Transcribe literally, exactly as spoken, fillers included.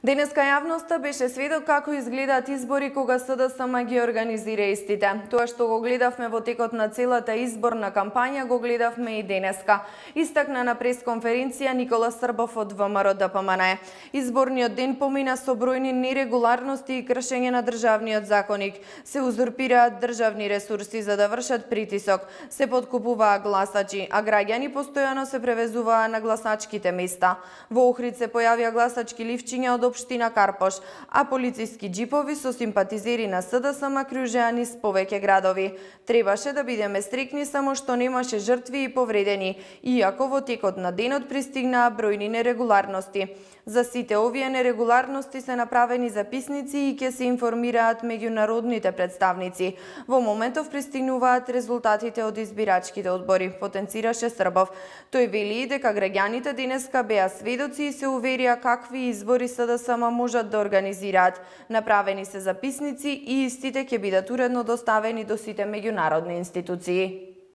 Денеска јавноста беше сведок како изгледаат избори кога СДСМ ги организира истите. Тоа што го гледавме во текот на целата изборна кампања го гледавме и денеска. Истакна на пресконференција Никола Србов од ВМРО Д П М Н. Изборниот ден помина со бројни нерегуларности и кршење на државниот законик. Се узурпираат државни ресурси за да вршат притисок, се подкупуваа гласачи, а граѓани постојано се превезуваа на гласачките места. Во Охрид се појавија гласачки ливчиња од општина Карпош, а полициски џипови со симпатизери на СДСМ кружеа низ повеќе градови. Требаше да бидеме стрикни само што немаше жртви и повредени, иако во текот на денот пристигнаа бројни нерегуларности. За сите овие нерегуларности се направени записници и ќе се информираат меѓународните представници. Во моментов пристигнуваат резултатите од избирачките одбори, потенцираше Србов. Тој вели и дека граѓаните денеска беа сведоци и се уверија какви избори СДСМ можат да организираат. Направени се записници и истите ќе бидат уредно доставени до сите меѓународни институции.